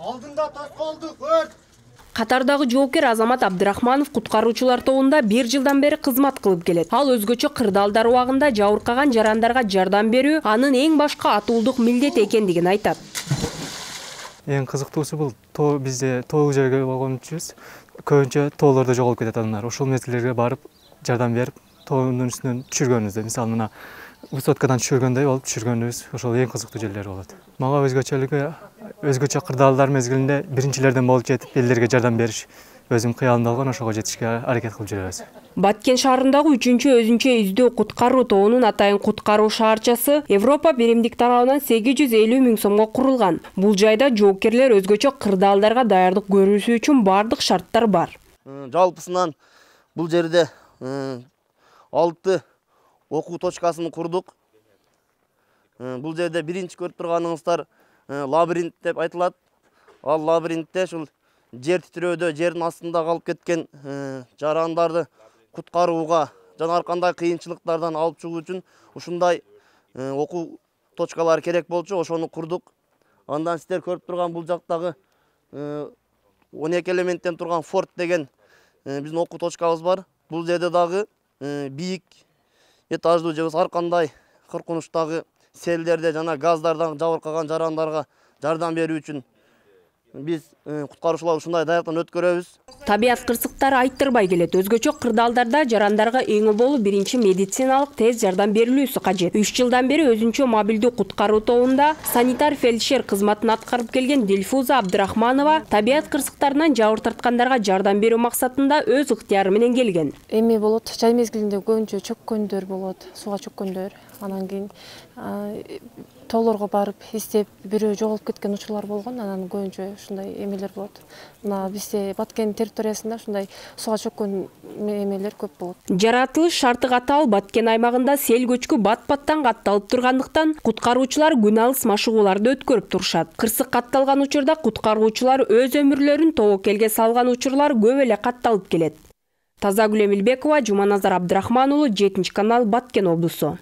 Алдында тоскоолдук өрт. Катардагы жоокер Азамат Абдрахманов куткаруучулар тобунда 1 жылдан бери кызмат кылып келет. Ал өзгөчө кырдаалдар убагында жабыркаган жарандарга жардам берүү анын эң башка атуулдук милдети экендигин айтат. Эң кызыктуусу бул бизде тоолуу жерге болгончубуз. Көбүнчө тоолордо жоголуп кетет адамдар. Ошол мезгилдерге барып жардам берип, тоонун үстүнөн түшүргөнүбүз. Мисалы мына высоткадан түшүргөндөй болуп түшүргөнүбүз. Ошол эң кызыктуу жерлер болот. Мага өзгөчө кырдаалдар мезгилинде биринчилерден болуп жетип, элдерге жардам бериш өзүм кыялымда болгон, ошого жетишке аракет кылып жүрөбүз. Баткен шаарындагы 3-чү өзүнчө издөө куткаруу тобунун атайын куткаруу шаарчасы Европа биримдик тарабынан 850 000 сомго курулган. Бул жайда жоокерлер өзгөчө кырдаалдарга даярдык көрүүсү үчүн бардык шарттар бар. Жалпысынан бул жерде 6 окуу точкасын курдук. Бул жерде биринчи көрүп турганыңыздар лабиринт деп айтылат. Ал лабиринтте ушул жер титирөөдө жердин астында калып кеткен жарандарды куткарууга жана ар кандай кыйынчылыктардан алып чыгуу үчүн ушундай окуу точкалары керек болчу, ошону курдук. Андан сиздер көрүп турган бул жактагы 12 элементтен турган форт деген биздин окуу точкабыз бар. Бул жерде дагы бийик этаждуу же ар кандай коркунучтагы селдерде жана газдардан жабыркаган жарандарга жардам берүү үчүн биз куткаруучулар ушундай даяктан өткөрөбүз. Табият кырсыктары айттырбай келет. Өзгөчө кырдаалдарда жарандарга эң болуу биринчи медициналык тез жардам берилүүсү кажет. 3 жылдан бери өзүнчө мобилдүү куткаруу тобунда санитар фельдшер кызматын аткарып келген Дилфуза Абдрахманова табият кырсыктарынан жабыр тарткандарга жардам берүү максатында өз ыктыяры менен келген. Эми болот, жай мезгилинде көбүнчө чөккөндөр болот, сууга чөккөндөр. Анан кийин тоолорго барып издеп бирөө жоголуп кеткен учурлар болгон, анан көбүнчө ушундай эмелер болот. Мына бизде Баткен территориясында ушундай сууга чөккөн эмелер көп болот. Жаратылыш шарты катуу Баткен аймагында сел көчкү бат-баттан катталып тургандыктан куткаруучулар күн алыс машыгууларды өткөрүп турушат. Кырсык катталган учурда куткаруучулар өз өмүрлөрүн тобокелге салган учурлар көп эле катталып келет. Тазагүл Эмилбекова, Жуманазар Абдрахман уулу, 7 канал, Баткен облусу.